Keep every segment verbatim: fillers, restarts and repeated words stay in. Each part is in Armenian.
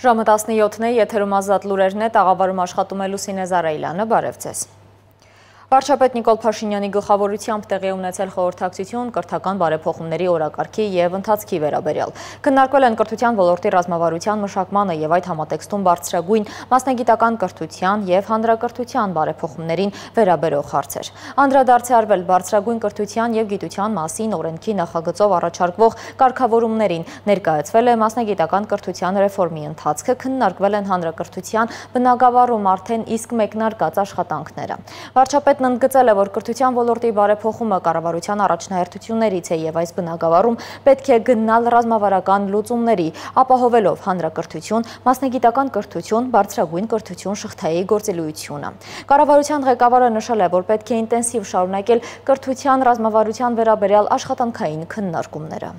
Ժամը տասնյոթն է, եթերում ազատ լուրերն է, տաղավարում աշխատում է Լուսինե Զարայլյանը, բարև ձեզ։ Վարչապետ Նիկոլ Փաշինյանի գլխավորությամբ տեղի ունեցել խորհրդակցություն կրթական բարեփոխումների օրակարգի եւ ընթացքի վերաբերյալ։ Քննարկվել են կրթության ոլորտի ռազմավարության մշակմանը եւ այդ համատեքստում բարձրագույն մասնագիտական կրթության եւ հանրակրթության բարեփոխումներին վերաբերող հարցեր։ Անդրադարձ է արվել բարձրագույն կրթության եւ գիտության մասին օրենքի նախագծով առաջարկվող կարգավորումներին, ներկայացվել է մասնագիտական կրթության ռեֆորմի ընթացքը, քննարկվել են հանրակրթության բնագավառում արդեն իսկ մեկնարկած աշխատանքները։ Վարչապետն ընդգծել է, որ կրթության ոլորտի բարեփոխումը կառավարության առաջնահերթություններից է եւ այս բնագավառում պետք է գնալ ռազմավարական լուծումների, ապահովելով հանրակրթություն, մասնագիտական կրթություն, բարձրագույն կրթություն շղթայի գործելույությունը։ Կառավարության ղեկավարը նշել է, որ պետք է ինտենսիվ շարունակել կրթության ռազմավարության վերաբերյալ աշխատանքային քննարկումները։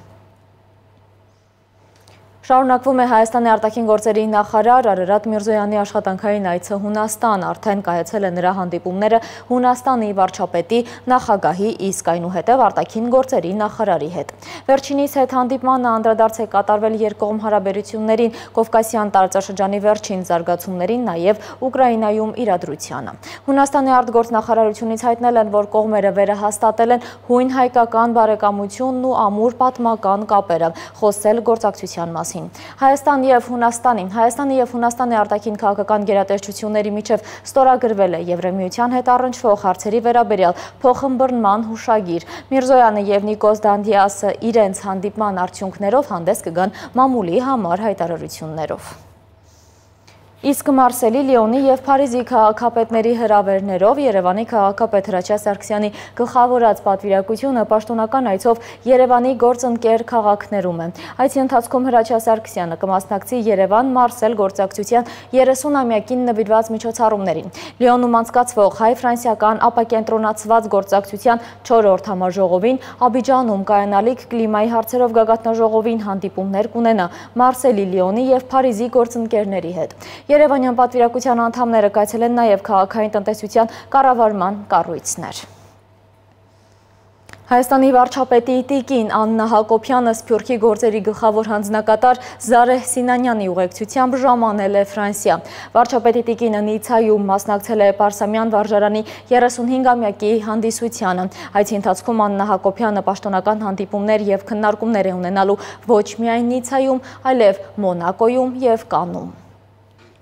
Շարունակվում է Հայաստանի արտաքին գործերի նախարար Արարատ Միրզոյանի աշխատանքային այցը Հունաստան, արդեն կայացել է նրա հանդիպումները Հունաստանի վարչապետի, նախագահի, իսկ այնուհետև արտաքին գործերի նախարարի հետ։ Վերջինիս հետ հանդիպմանը անդրադարձ է կատարվել երկկողմ հարաբերություններին, Կովկասյան տարածաշրջանի վերջին զարգացումներին, նաև Ուկրաինայում իրադրությանը։ Հունաստանի արտգործնախարարությունից հայտնել են, որ կողմերը վերահաստատել են հույն հայկական բարեկամությունն ու ամուր պատմական կապերը, խոսել գործակցության մասին։ Հայաստան եւ Հունաստանի Հայաստանի եւ Հունաստանի արտաքին քաղաքական գերատեսչությունների միջև ստորագրվել է Եվրամիության հետ առնչվող հարցերի վերաբերյալ փոխըմբռնման հուշագիր։ Միրզոյանը եւ Նիկոս Դանդիասը իրենց հանդիպման արդյունքներով հանդես կգան մամուլի համար հայտարարություններով։ Իսկ Մարսելի, Լիոնի եւ Փարիզի քաղաքապետների հրավերներով Երևանի քաղաքապետ Հրաչյա Սարգսյանի գլխավորած պատվիրակությունը պաշտոնական այցով Երևանի գործընկեր քաղաքներում է։ Այցի ընթացքում Հրաչյա Սարգսյանը կմասնակցի Երևան-Մարսել գործակցության երեսունամյակին նվիրված միջոցառումներին։ Լիոնում անցկացվող հայ-ֆրանսիական ապակենտրոնացված գործակցության չորրորդ համաժողովին, Աբիջանում կայանալիք կլիմայի հարցերով գագաթնաժողովին հանդիպումներ կունենա Մարսելի, Լիոնի եւ Փարիզի գործընկերների հետ։ Երևանյան պատվիրակության անդամները կայցել են նաև քաղաքային տնտեսության կառավարման կառույցներ։ Հայաստանի վարչապետի տիկին Աննա Հակոբյանը Սփյուռքի գործերի գլխավոր հանձնակատար Զարեհ Սինանյանի ուղեկցությամբ ժամանել է Ֆրանսիա։ Վարչապետի տիկինը Նիցայում մասնակցել է Պարսամյան վարժարանի երեսունհինգամյակի հանդիսությանը։ Այցի ընթացքում Աննա Հակոբյանը պաշտոնական հանդիպումներ եւ քննարկումներ է ունենալու ոչ միայն Նիցայում, այլև Մոնակոյում եւ Կաննում։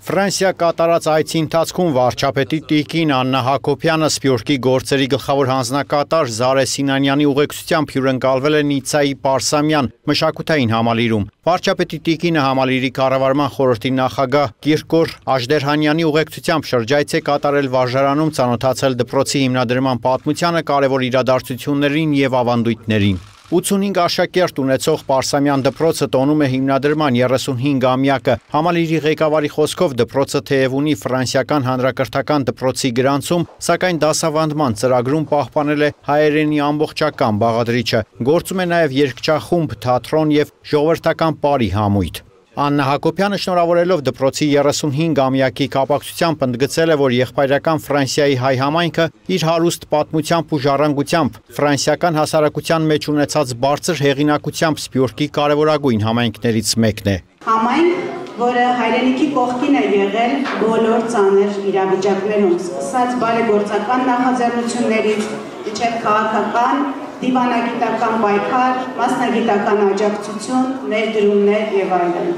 Ֆրանսիա կատարած այցի ընթացքում վարչապետի տիկին Աննա Հակոբյանը Սփյուռքի գործերի գլխավոր հանձնակատար Զարեհ Սինանյանի ուղեկցությամբ հյուրընկալվել է Նիցայի Պարսամյան մշակութային համալիրում։ Վարչապետի տիկինը համալիրի կառավարման խորհրդի նախագահ Կիրկոր Աժդերհանյանի ուղեկցությամբ շրջայց է կատարել վարժարանում, ծանոթացել դպրոցի հիմնադրման պատմությանը, կարևոր իրադարձություններին եւ ավանդույթներին։ ութսունհինգ աշակերտ ունեցող Պարսամյան դպրոցը տոնում է հիմնադրման երեսունհինգամյակը։ Համալիրի ղեկավարի խոսքով դպրոցը թեև ունի ֆրանսիական հանրակրթական դպրոցի գրանցում, սակայն դասավանդման ծրագրում պահպանել է հայերենի ամբողջական բաղադրիչը։ Գործում է նաև երգչախումբ, թատրոն եւ ժողովրդական պարի համույթ։ Աննա Հակոբյանը շնորհավորելով դպրոցի երեսունհինգամյակի կապակցությամբ ընդգծել է, որ եղբայրական Ֆրանսիայի հայ համայնքը իր հարուստ պատմությամբ ու ժառանգությամբ ֆրանսիական հասարակության մեջ ունեցած բարձր հեղինակությամբ Սփյուռքի կարևորագույն համայնքներից մեկն է։ Համայնք, որը հայրենիքի կողքին է եղել բոլոր ծանր իրավիճակներում, սկսած բարեգործական նախաձեռնություններից, մինչև քաղաքական դիվանագիտական պայքար, մասնագիտական աջակցություն, ներդրումներ եւ այլն։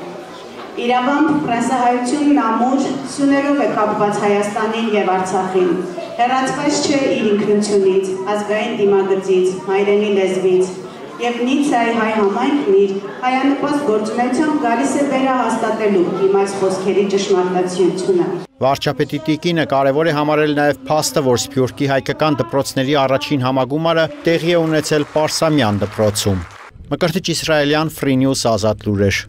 Իրավամբ ֆրանսահայությունն ամուր սյուներով է կապված Հայաստանին եւ Արցախին։ Հեռացված չէ իր ինքնությունից, ազգային դիմագծից, հայրենի լեզվից։ Եվ Նիցայի հայ համայնքն իր հայանպաստ գործունեությամբ գալիս է վերահաստատելու իմաց խոսքերի ճշմարտացիությունը։ Վարչապետի տիկինը կարևոր է համարել նաև փաստը, որ Սփյուռքի հայկական դպրոցների առաջին համագումարը տեղի է ունեցել Պարսամյան դպրոցում։ Մկրտիչ Իսրայելյան, Free News, Ազատ լուրեր։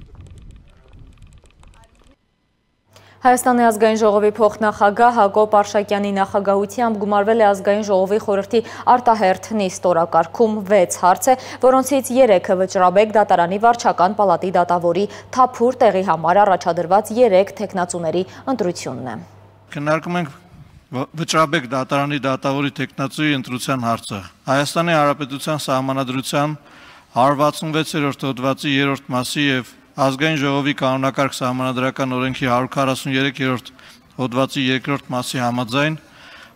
Հայաստանի ազգային ժողովի փոխնախագահ Հակոբ Արշակյանի նախագահությամբ գումարվել է ազգային ժողովի խորհրդի արտահերթ նիստ օրակարգում վեց հարց է, որոնցից երեքը Վճռաբեկ դատարանի վարչական պալատի դատավորի թափուր տեղի համար առաջադրված երեք թեկնածուների ընտրությունն է։ Քննարկում ենք Վճռաբեկ դատարանի դատավորի թեկնածուի ընտրության հարցը։ Հայաստանի Հանրապետության Սահմանադրության հարյուր վաթսունվեցերորդ հոդվածի երրորդ մասի եւ Ազգային ժողովի կանոնակարգ սահմանադրական օրենքի հարյուր քառասուններորդ հոդվածի երկրորդ մասի համաձայն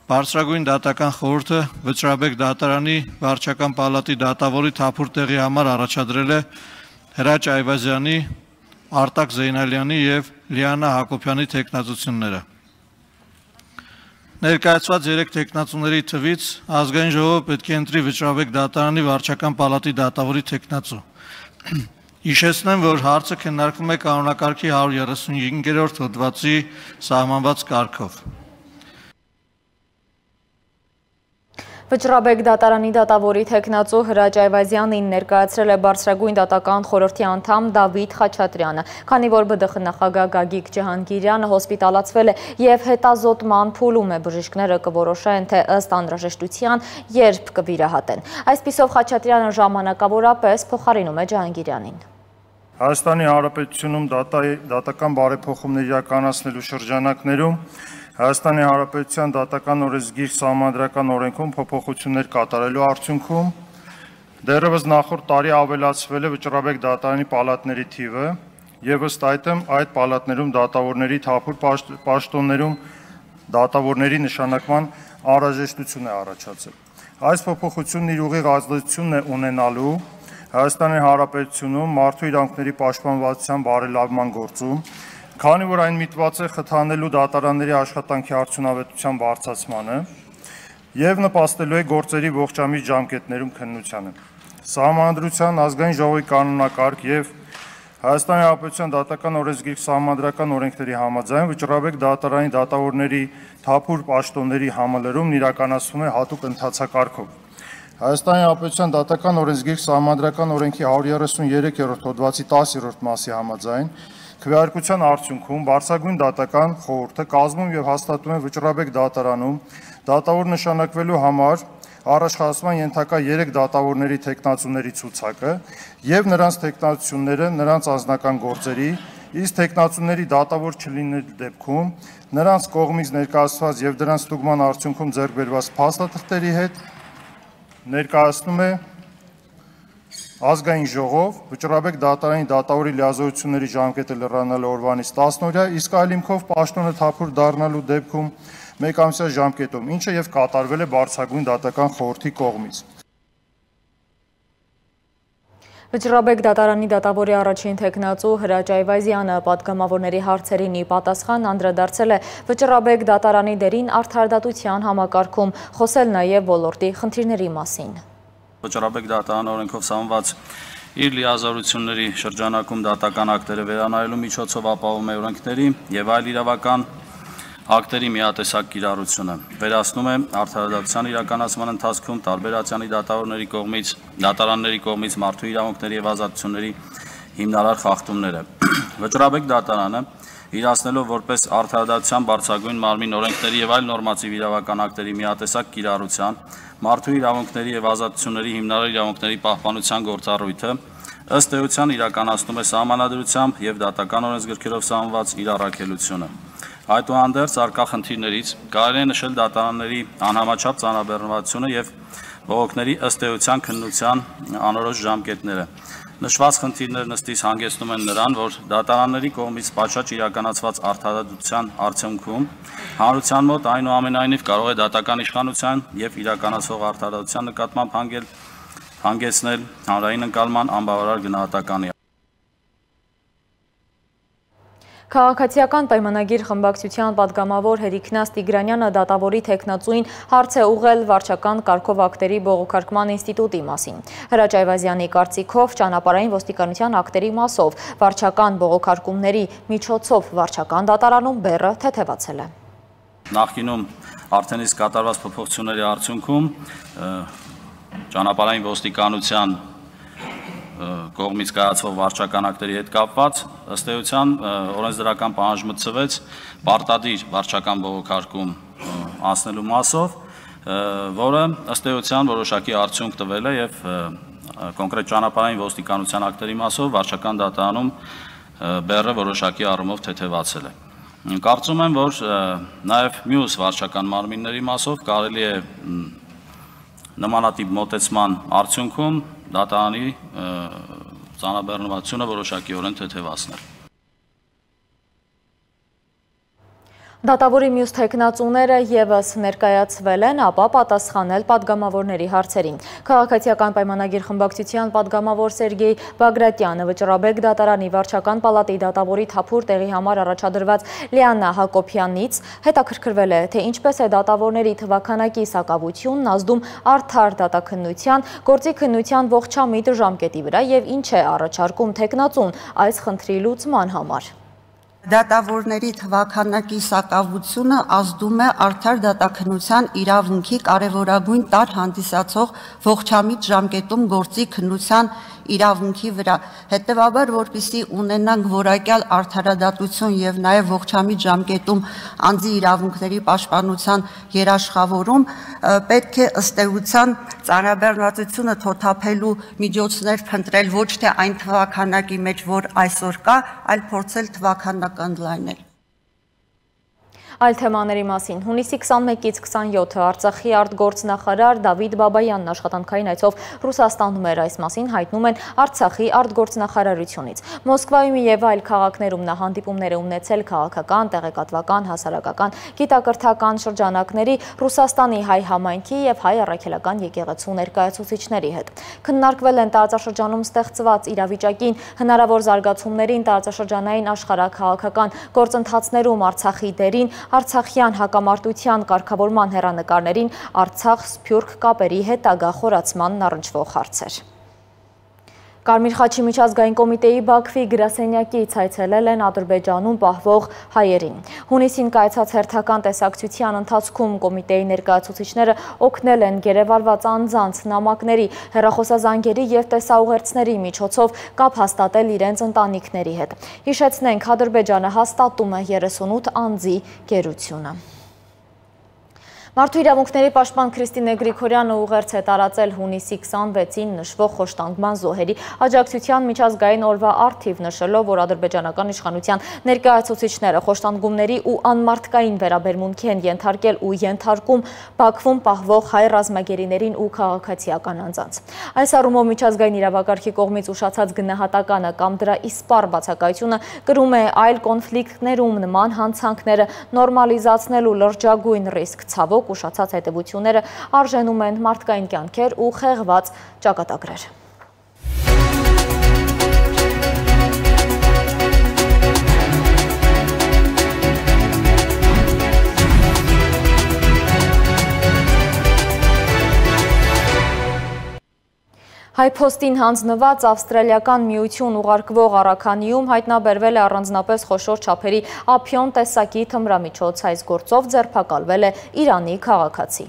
Բարձրագույն դատական խորհուրդը Վճռաբեկ դատարանի վարչական պալատի դատավորի թափուր տեղի համար առաջադրել է Հրաչ Այվազյանի, Արտակ Զեյնալյանի և Լիանա Հակոբյանի թեկնածությունները։ Ներկայացված երեք թեկնածուների թվից ազգային ժողովը պետք է ընտրի Վճռաբեկ դատարանի վարչական պալատի դատավորի թեկնածու։ Հիշեցնեմ, որ հարցը քննարկվում է կանոնակարգի հարյուր երեսունհինգերորդ հոդվածի սահմանված կարգով։ Վճռաբեկ դատարանի դատավորի թեկնածու Հրաչ Այվազյանին ներկայացրել է Բարձրագույն դատական խորհրդի անդամ Դավիթ Խաչատրյանը, քանի որ ԲԴԽ նախագահ Գագիկ Ջհանգիրյանը հոսպիտալացվել է և հետազոտման փուլում է, բժիշկները կորոշեն, թե ըստ անհրաժեշտության երբ կվիրահատեն։ Այսպիսով Խաչատրյանը ժամանակավորապես փոխարինում է Ջհանգիրյանին։ Հայաստանի Հանրապետությունում դատական բարեփոխումներ իրականացնելու շրջանակներում Հայաստանի Հանրապետության դատական օրենսգիր սահմանադրական օրենքում փոփոխություններ կատարելու արդյունքում դեռևս նախորդ տարի ավելացվել է Վճռաբեկ դատարանի պալատների թիվը եւ ըստ այդմ այդ պալատներում դատավորների թափուր պաշտոններում դատավորների նշանակման անհրաժեշտություն է առաջացել։ Այս փոփոխությունն իր ուղիղ ազդեցությունն է ունենալու Հայաստանի Հանրապետությունում մարդու իրավունքների պաշտպանվածության բարելավման գործում, քանի որ այն միտված է խթանելու դատարանների աշխատանքի արդյունավետության բարձրացմանը եւ նպաստելու է գործերի ողջամիտ ժամկետներում քննությանը։ Սահմանադրության, ազգային ժողովի կանոնակարգ եւ Հայաստանի Հանրապետության դատական օրենսգիր սահմանադրական օրենքների համաձայն Վճռաբեկ դատարանի դատավորների թափուր պաշտոնների համալրումն իրականացվում է հատուկ ընթացակարգով։ Հայաստանի Հանրապետության դատական օրենսգիր սահմանադրական օրենքի հարյուր երեսուներորդ հոդվածի տասերորդ մասի համաձայն քվեարկության արդյունքում Բարձրագույն դատական խորհուրդը կազմում եւ հաստատում է Վճռաբեկ դատարանում դատավոր նշանակվելու համար առաջխաղացման ենթակա երեք դատավորների թեկնածուների ցուցակը եւ նրանց թեկնածությունները նրանց անձնական գործերի, իսկ թեկնածուների դատավոր չլինելու դեպքում նրանց կողմից ներկայացված եւ դրանց ստուգման արդյունքում ձեռք բերված փաստաթղթերի հետ ներկայացնում է Ազգային ժողով Վճռաբեկ դատարանի դատավորի լիազորությունների ժամկետը լրանալու օրվանից տասն օրյա, իսկ այլ հիմքով պաշտոնը թափուր դառնալու դեպքում մեկ ամսյա ժամկետում, ինչը եւ կատարվել է Բարձրագույն դատական խորհրդի կողմից։ Վճռաբեկ դատարանի դատավորի առաջին թեկնածու Հրաչ Այվազյանը պատգամավորների հարցերին ի պատասխան անդրադարձել է Վճռաբեկ դատարանի դերին արդարադատության համակարգում, խոսել նաեւ ոլորտի խնդիրների մասին։ Վճռաբեկ դատարան օրենքով սահմանված իր լիազորությունների շրջանակում դատական ակտերը վերանայելու միջոցով ապահովում է օրենքների եւ այլ իրավական ակտերի միատեսակ կիրառությունը, վերացնում է արդարադատության իրականացման ընթացքում տարբեր ատյանի դատավորների կողմից, դատարանների կողմից մարդու իրավունքների եւ ազատությունների հիմնարար խախտումները։ Վճռաբեկ դատարանը իրացնելով որպես արդարադատության բարձրագույն մարմին օրենքների եւ այլ նորմատիվ իրավական ակտերի միատեսակ կիրառության մարդու իրավունքների եւ ազատությունների հիմնարար իրավունքների պահպանության գործառույթը ըստ էության իրականացնում է սահմանադրությամբ եւ դատական օրենսգրքերով սահմանված իր առաքելությունը։ Այդուհանդերձ արկա խնդիրներից կարելի է նշել դատարանների անհամաչափ ծանրաբեռնվածությունը եւ բողոքների ըստ էության քննության անորոշ ժամկետները։ Նշված խնդիրներն ըստիս հանգեցնում են նրան, որ դատարանների կողմից պատշաճ իրականացված արդարադատության արդյունքում հանրության մոտ այնուամենայնիվ կարող է դատական իշխանության եւ իրականացվող արդարադատության նկատմամբ հանգել հանգեցնել հանրային ընկալման անբավարար գնահատականի։ Քաղաքացիական պայմանագիր խմբակցության պատգամավոր Հերիքնաս Տիգրանյանը դատավորի թեկնածուին հարց է ուղղել վարչական կարգով ակտերի բողոքարկման ինստիտուտի մասին։ Հրաչ Այվազյանի կարծիքով ճանապարհային ոստիկանության ակտերի մասով վարչական բողոքարկումների միջոցով վարչական դատարանում բեռը թեթևացել է։ Նախկինում արդեն իսկ կատարված փոփոխությունների արդյունքում ճանապարհային ոստիկանության կողմից կայացվող վարչական ակտերի հետ կապված ըստ էության օրենսդրական պահանջ մտցվեց պարտադիր վարչական բողոքարկում անցնելու մասով, որը ըստ էության որոշակի արդյունք տվել է եւ կոնկրետ ճանապարհային ոստիկանության ակտերի մասով վարչական դատարանում բեռը որոշակի առումով թեթևացել է։ Կարծում եմ, որ նաեւ մյուս վարչական մարմինների մասով կարելի է նմանատիպ մոտեցման արդյունքում դատարանի ծանրաբեռնվածությունը որոշակիորեն թեթևացնել։ Դատավորի մյուս թեկնածուները ևս ներկայացվել են, ապա պատասխանել պատգամավորների հարցերին։ Քաղաքացիական պայմանագիր խմբակցության պատգամավոր Սերգեյ Բագրատյանը Վճռաբեկ դատարանի վարչական պալատի դատավորի թափուր տեղի համար առաջադրված Լիաննա Հակոբյանից հետաքրքրվել է, թե ինչպես է դատավորների թվաքանակի սակավությունն ազդում արդար դատաքննության, գործի քննության ողջամիտ ժամկետի վրա և ինչ է առաջարկում թեկնածուն այս խնդրի լուծման համար։ Դատավորների թվաքանակի սակավությունը ազդում է արդար դատաքննության իրավունքի կարևորագույն տարր հանդիսացող ողջամիտ ժամկետում գործի քննության իրավունքի վրա։ Հետևաբար, որպեսզի ունենանք որակյալ արդարադատություն եւ նաեւ ողջամիտ ժամկետում անձի իրավունքների պաշտպանության երաշխավորում, պետք է ըստ էության ծանրաբեռնվածությունը թոթափելու միջոցներ փնտրել ոչ թե այն թվաքանակի մեջ, որ այսօր կա, այլ փորձել թվաքանակ ընդլայնել։ Այլ թեմաների մասին հունիսի քսանմեկից քսանյոթը Արցախի արտգործնախարար Դավիթ Բաբայանն աշխատանքային այցով Ռուսաստանում էր, այս մասին հայտնում են Արցախի արտգործնախարարությունից։ Մոսկվայում եւ այլ քաղաքներում նա հանդիպումներ է ունեցել քաղաքական, տեղեկատվական, հասարակական, գիտակրթական շրջանակների, Ռուսաստանի հայ համայնքի եւ հայ առաքելական եկեղեցու ներկայացուցիչների հետ։ Քննարկվել են տարածաշրջանում ստեղծված իրավիճակին, հնարավոր զարգացումներին, տարածաշրջանային աշխարհաքաղաքական գործընթացներում Արցախի դերին, Արցախյան հակամարտության կարգավորման հեռանկարներին, Արցախ-Սփյուռք կապերի հետագա խորացմանն առնչվող հարցեր։ Կարմիր խաչի միջազգային կոմիտեի Բաքվի գրասենյակից այցելել են Ադրբեջանում պահվող հայերին։ Հունիսին կայացած հերթական տեսակցության ընթացքում կոմիտեի ներկայացուցիչները օգնել են գերեվարված անձանց, նամակների, հեռախոսազանգերի և տեսաուղերձների միջոցով կապ հաստատել իրենց ընտանիքների հետ։ Հիշեցնենք, Ադրբեջանը հաստատում է երեսունութ անձի գերությունը։ Մարդու իրավունքների պաշտպան Քրիստինե Գրիգորյանը ուղերձ է տարածել հունիսի քսանվեցին նշվող խոշտանգման զոհերի աջակցության միջազգային օրվա առթիվ, նշելով, որ ադրբեջանական իշխանության ներկայացուցիչները խոշտանգումների ու անմարդկային վերաբերմունքի են ենթարկել ու ենթարկում Բաքվում պահվող հայ ռազմագերիներին ու քաղաքացիական անձանց։ Այս առումով միջազգային իրավակարգի կողմից ուշացած գնահատականը կամ դրա իսպառ բացակայությունը կրում է այլ կոնֆլիկտներում նման հանցանքները նորմալիզացնելու լրջագույն ռիսկ, ցավոք ուշացած հետևությունները արժենում են մարդկային կյանքեր ու խեղված ճակատագրեր։ Հայփոստին հանձնված ավստրալիական միություն ուղարկվող առաքանիում հայտնաբերվել է առանձնապես խոշոր չափերի ափիոն տեսակի թմրամիջոց, այս գործով ձերբակալվել է Իրանի քաղաքացի։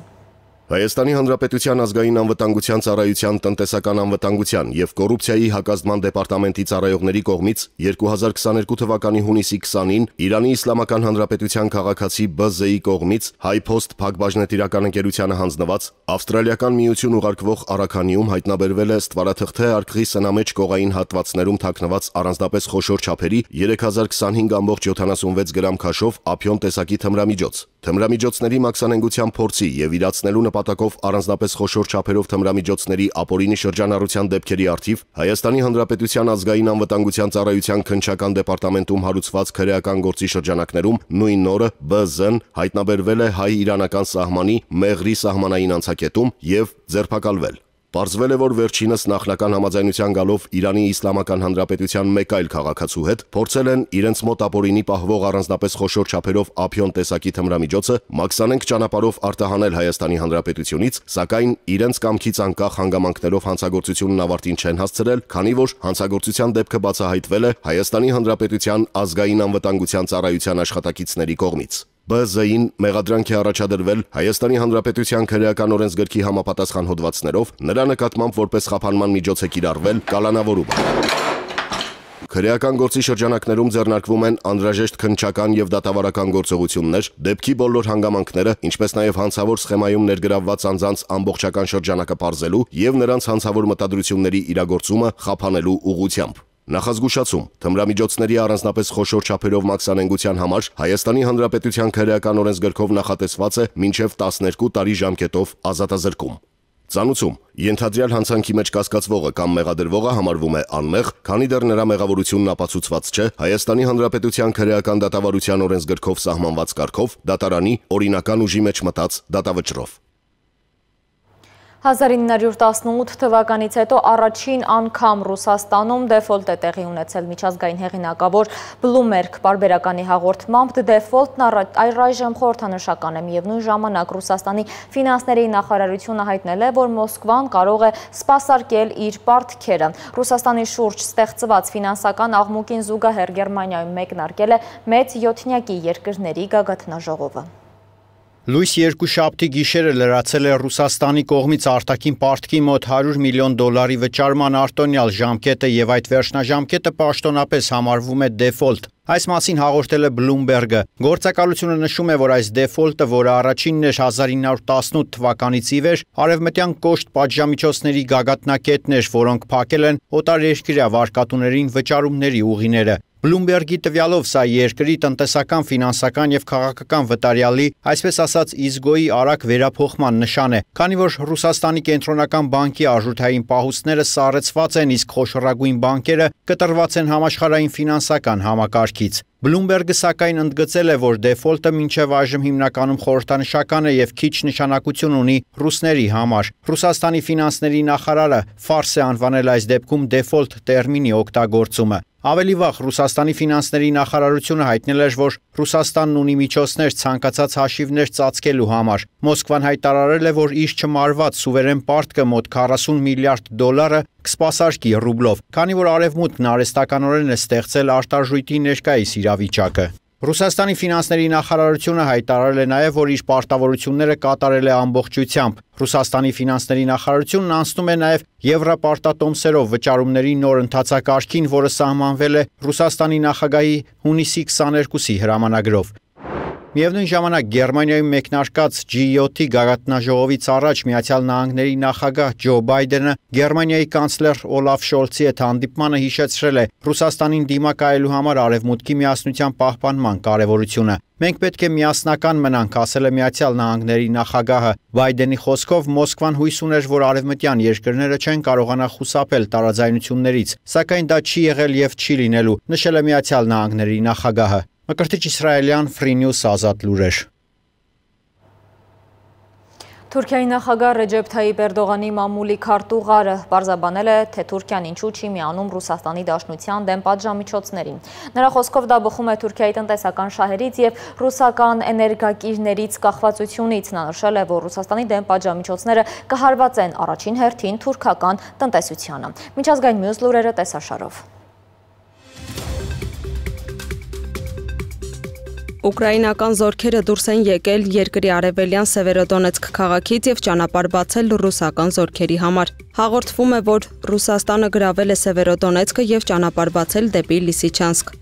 Հայաստանի Հանրապետության ազգային անվտանգության ծառայության տնտեսական անվտանգության և կոռուպցիայի հակազդման դեպարտամենտի ծառայողների կողմից երկու հազար քսաներկու թվականի հունիսի քսանին Իրանի Իսլամական Հանրապետության քաղաքացի Բ Զ-ի կողմից Հայփոստ փակbaşնետիրական ընկերությանը հանձնված ավստրալիական միություն ուղարկվող առաքանիում հայտնաբերվել է ստվարաթղթե արկղի սնամեջ կողային հատվածներում թաքնված առանձնապես խոշոր չափերի երեք հազար քսանհինգ կόμma յոթանասունվեց գրամ քաշով ափիոն տեսակի թմրամիջոց։ Թմրամիջոցների մաքսանենգության փորձի և իրացնելու նպատակով առանձնապես խոշոր չափերով թմրամիջոցների ապօրինի շրջանառության դեպքերի առթիվ Հայաստանի Հանրապետության ազգային անվտանգության ծառայության քննչական դեպարտամենտում հարուցված քրեական գործի շրջանակներում նույն օրը Բ Զ-ն հայտնաբերվել է հայ-իրանական սահմանի Մեղրի սահմանային անցակետում և ձերբակալվել։ Պարզվել է, որ վերջինս նախնական համաձայնության գալով Իրանի Իսլամական Հանրապետության մեկ այլ քաղաքացու հետ փորձել են իրենց մոտ ապօրինի պահվող առանձնապես խոշոր չափերով ափիոն տեսակի թմրամիջոցը մաքսանենգ ճանապարհով արտահանել Հայաստանի Հանրապետությունից, սակայն իրենց կամքից անկախ հանգամանքներով հանցագործությունն ավարտին չեն հասցրել, քանի որ հանցագործության դեպքը բացահայտվել է Հայաստանի Հանրապետության ազգային անվտանգության ծառայության աշխատակիցների կողմից։ Բ Զ-ին մեղադրանք է առաջադրվել Հայաստանի Հանրապետության քրեական օրենսգրքի համապատասխան հոդվածներով, նրա նկատմամբ որպես խափանման միջոց է կիրառվել կալանավորումը։ Քրեական գործի շրջանակներում ձեռնարկվում են անհրաժեշտ քննչական և դատավարական գործողություններ, դեպքի բոլոր հանգամանքները, ինչպես նաև հանցավոր սխեմայում ներգրավված անձանց ամբողջական շրջանակը պարզելու և նրանց հանցավոր մտադրությունների իրագործումը խափանելու ուղղությամբ։ Նախազգուշացում, թմրամիջոցների առանձնապես խոշոր չափերով մաքսանենգության համար Հայաստանի Հանրապետության քրեական օրենսգրքով նախատեսված է մինչև տասներկու տարի ժամկետով ազատազրկում։ Ծանուցում. Ենթադրյալ հանցանքի մեջ կասկածվողը կամ մեղադրվողը համարվում է անմեղ, քանի դեռ նրա մեղավորությունն ապացուցված չէ Հայաստանի Հանրապետության քրեական դատավարության օրենսգրքով սահմանված կարգով դատարանի օրինական ուժի մեջ մտած դատավճռով։ հազար ինը հարյուր տասնութ թվականից հետո առաջին անգամ Ռուսաստանում դեֆոլտ է տեղի ունեցել միջազգային հեղինակավոր Bloomberg պարբերականի հաղորդմամբ դեֆոլտն առայժմ խորհրդանշական է, միևնույն ժամանակ Ռուսաստանի ֆինանսների նախարարությունը հայտնել է, որ Մոսկվան կարող է սպասարկել իր պարտքերը։ Ռուսաստանի շուրջ ստեղծված ֆինանսական աղմուկին զուգահեռ Գերմանիայում մեկնարկել է մեծ յոթնյակի երկրների գագաթնաժողովը։ Լույս երկուշաբթի գիշերը լրացել է Ռուսաստանի կողմից արտաքին պարտքի մոտ հարյուր միլիոն դոլարի վճարման արտոնյալ ժամկետը եւ այդ վերջնաժամկետը պաշտոնապես համարվում է դեֆոլտ։ Այս մասին հաղորդել է Bloomberg-ը։ Գործակալությունը նշում է, որ այս դեֆոլտը, որը առաջինն էր հազար ինը հարյուր տասնութ թվականից ի վեր, արևմտյան կոշտ պատժամիջոցների գագաթնակետն էր, որոնք փակել են օտարերկրյա վարկատուներին վճարումների ուղիները։ Bloomberg-ի տվյալով սա երկրի տնտեսական, ֆինանսական եւ քաղաքական վտարյալի, այսպես ասած, իզգոյի արագ վերափոխման նշան է, քանի որ Ռուսաստանի կենտրոնական բանկի արժութային պահուստները սառեցված են, իսկ խոշորագույն բանկերը կտրված են համաշխարհային ֆինանսական համակարգից։ Bloomberg-ը սակայն ընդգծել է, որ դեֆոլտը մինչև այժմ հիմնականում խորհրդանշական է եւ քիչ նշանակություն ունի ռուսների համար։ Ռուսաստանի ֆինանսների նախարարը ֆարս է անվանել այս դեպքում դեֆոլտ տերմինի օգտագործումը։ Ավելի վաղ Ռուսաստանի ֆինանսների նախարարությունը հայտնել էր, որ Ռուսաստանն ունի միջոցներ ցանկացած հաշիվներ ծածկելու համար։ Մոսկվան հայտարարել է, որ իր չմարված սուվերեն պարտքը մոտ քառասուն միլիարդ դոլարը կսպասարկի ռուբլով, քանի որ արևմուտքն արհեստականորեն է ստեղծել արտարժույթի ներկայիս իրավիճակը։ Ռուսաստանի ֆինանսների նախարարությունը հայտարարել է նաև, որ իր պարտավորությունները կատարել է ամբողջությամբ։ Ռուսաստանի ֆինանսների նախարարությունն անցնում է նաև եվրոպարտատոմսերով վճարումների նոր ընթացակարգին, որը սահմանվել է Ռուսաստանի նախագահի հունիսի քսաներկուսի հրամանագրով։ Միևնույն ժամանակ Գերմանիայում մեկնարկած Ջի յոթի գագաթնաժողովից առաջ Միացյալ Նահանգների նախագահ Ջո Բայդենը Գերմանիայի կանցլեր Օլաֆ Շոլցի հետ հանդիպմանը հիշեցրել է Ռուսաստանին դիմակայելու համար արևմուտքի միասնության պահպանման կարևորությունը։ Մենք պետք է միասնական մնանք, ասել է Միացյալ Նահանգների նախագահը։ Բայդենի խոսքով Մոսկվան հույս ուներ, որ արևմտյան երկրները չեն կարողանա խուսափել տարաձայնություններից, սակայն դա չի եղել եւ չի լինելու, նշել է Միացյալ Նահանգների նախագահը։ Մկրտիչ իսրայելյան Free News ազատ լուրեր։ Թուրքիայի նախագահ Ռեջեփ Թայիպ Էրդողանի մամուլի քարտուղարը պարզաբանել է, թե Թուրքիան ինչու չի միանում Ռուսաստանի Դաշնության դեմ պատժամիջոցներին։ Նրա խոսքով դա բխում է Թուրքիայի տնտեսական շահերից եւ ռուսական էներգակիրներից կախվածությունից։ Նա նշել է, որ Ռուսաստանի դեմ պատժամիջոցները կհարվածեն առաջին հերթին թուրքական տնտեսությանը։ Միջազգային մյուս լուրերը տեսաշարով։ Ուկրաինական զորքերը դուրս են եկել երկրի արևելյան Սևերոդոնեցկ քաղաքից եւ ճանապարհ բացել ռուսական զորքերի համար։ Հաղորդվում է, որ Ռուսաստանը գրավել է Սևերոդոնեցկը եւ ճանապարհ բացել դեպի Լիսիչանսկ։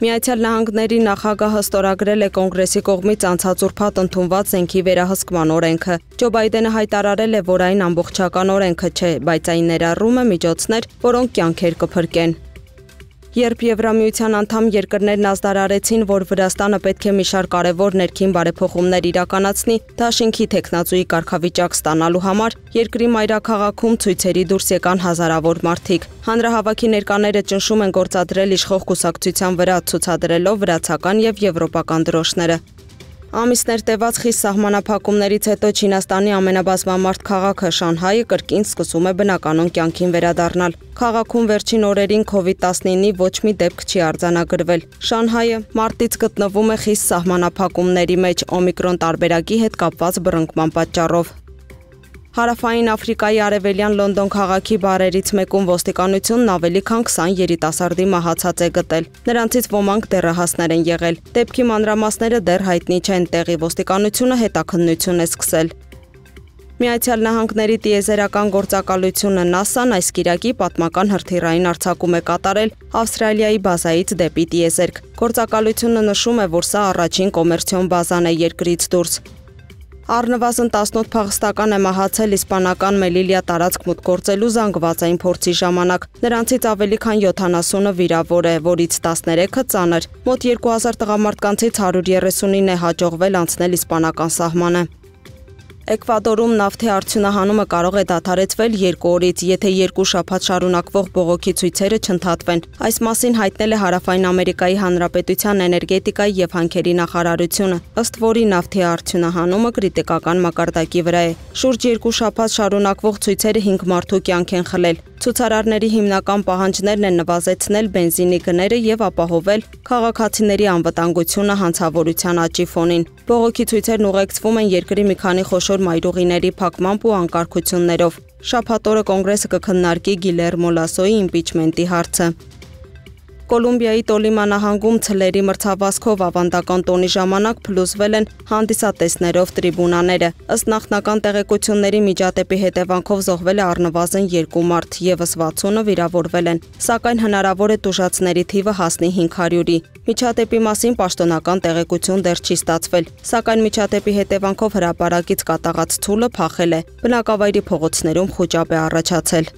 Միացյալ Նահանգների նախագահը ստորագրել է կոնգրեսի կողմից անցած ուրբաթ ընդունված զենքի վերահսկման օրենքը։ Ջո Բայդենը հայտարարել է, որ այն ամբողջական օրենքը չէ, բայց այն ներառում է միջոցներ, որոնք կյանքեր կփրկեն։ Երբ Եվրամիության անդամ երկրներն ազդարարեցին, որ Վրաստանը պետք է մի շարք կարևոր ներքին բարեփոխումներ իրականացնի, դաշինքի տեխնացուի կարգավիճակ ստանալու համար, երկրի մայրաքաղաքում ցույցերի դուրս եկան հազարավոր մարդիկ։ Հանրահավաքի ներկաները ճնշում են գործադրել իշխող կուսակցության վրա, ցուցադրելով վրացական եւ եվրոպական դրոշները։ Ամիսներ տևած խիստ սահմանափակումներից հետո Չինաստանի ամենաբազմամարդ քաղաքը Շանհայը կրկին սկսում է բնականon կյանքին վերադառնալ։ Քաղաքում վերջին օրերին քովիդ տասնինի ոչ մի դեպք չի արձանագրվել։ Շանհայը մարտից գտնվում է խիստ սահմանափակումների մեջ օմիկրոն տարբերակի հետ կապված բռնկման պատճառով։ Հարավային Աֆրիկայի արևելյան Լոնդոն քաղաքի բարերից մեկում ոստիկանությունն ավելի քան քսան երիտասարդի մահացած է գտել։ Նրանցից ոմանք դեռահասներ են եղել։ Դեպքի մանրամասները դեռ հայտնի չեն, տեղի ոստիկանությունը հետաքննություն է սկսել։ Միացյալ Նահանգների տիեզերական գործակալությունը նասան այս կիրակի պատմական հրթիռային արձակում է կատարել Ավստրալիայի բազայից դեպի տիեզերք։ Գործակալությունը նշում է, որ սա առաջին կոմերցիոն բազան է երկրից դուրս։ Առնվազն տասնութ փախստական է մահացել իսպանական Մելիլիա տարածք մուտք գործելու զանգվածային փորձի ժամանակ։ Նրանցից ավելի քան յոթանասունը վիրավոր է, որից տասներեքը ծանր։ Մոտ երկու հազար տղամարդկանցից հարյուր երեսունինն է հաջողվել անցնել իսպանական սահմանը։ Էկվադորում նավթի արդյունահանումը կարող է դադարեցվել երկու օրից, եթե երկու շաբաթ շարունակվող բողոքի ցույցերը չընդհատվեն։ Այս մասին հայտնել է Հարավային Ամերիկայի Հանրապետության էներգետիկայի եւ հանքերի նախարարությունը, ըստ որի նավթի արդյունահանումը կրիտիկական մակարդակի վրա է։ Շուրջ երկու շաբաթ շարունակվող ցույցերը հինգ մարդու կյանք են խլել։ Ցուցարարների հիմնական պահանջներն են նվազեցնել բենզինի գները եւ ապահովել քաղաքացիների անվտանգությունը հանցավորության աճի ֆոնին։ Բողոքի ցույցերն ուղեկցվում են երկրի մի քանի խոշոր մայրուղիների փակմամբ ու անկարգություններով։ Շաբաթ օրը կոնգրեսը կքննարկի Գիլերմո Լասոյի իմպիչմենտի հարցը։ Կոլումբիայի Տոլիմա նահանգում ցլերի մրցավազքով ավանդական տոնի ժամանակ փլուզվել են հանդիսատեսներով տրիբունաները։ Ըստ նախնական տեղեկությունների միջադեպի հետևանքով զոհվել է առնվազն երկու մարդ, եւս վաթսունը վիրավորվել են, սակայն հնարավոր է տուժածների թիվը հասնի հինգ հարյուրի։ Միջադեպի մասին պաշտոնական տեղեկություն դեռ չի ստացվել, սակայն միջադեպի հետևանքով հրապարակից կատաղած ցուլը փախել է։ Բնակավայրի փողոցներում խուճապ է առաջացել։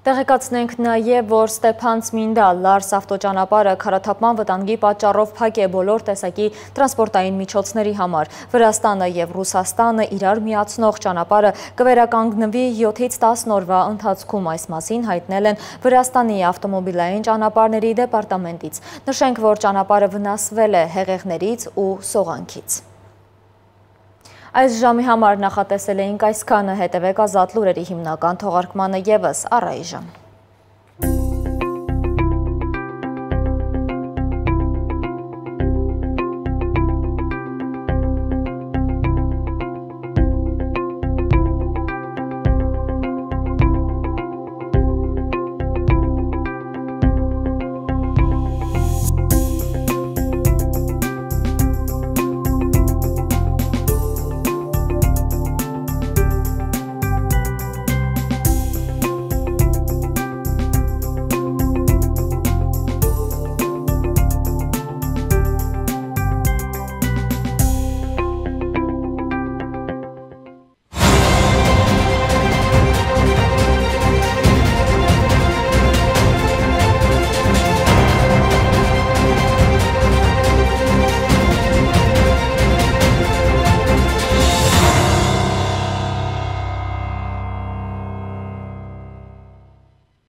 Տեղեկացնենք նաև, որ Ստեփան-Ցմինդա-Լարս ավտոճանապարհը քարաթափման վտանգի պատճառով փակ է բոլոր տեսակի տրանսպորտային միջոցների համար։ Վրաստանը եւ Ռուսաստանը իրար միացնող ճանապարհը կվերականգնվի յոթից տասն օրվա ընթացքում, այս մասին հայտնել են Վրաստանի ավտոմոբիլային ճանապարհների դեպարտամենտից։ Նշենք, որ ճանապարհը վնասվել է հեղեղներից ու սողանքից։ Այս ժամի համար նախատեսել էինք այսքանը, հետևեք Ազատ լուրերի հիմնական թողարկմանը ևս առայժմ։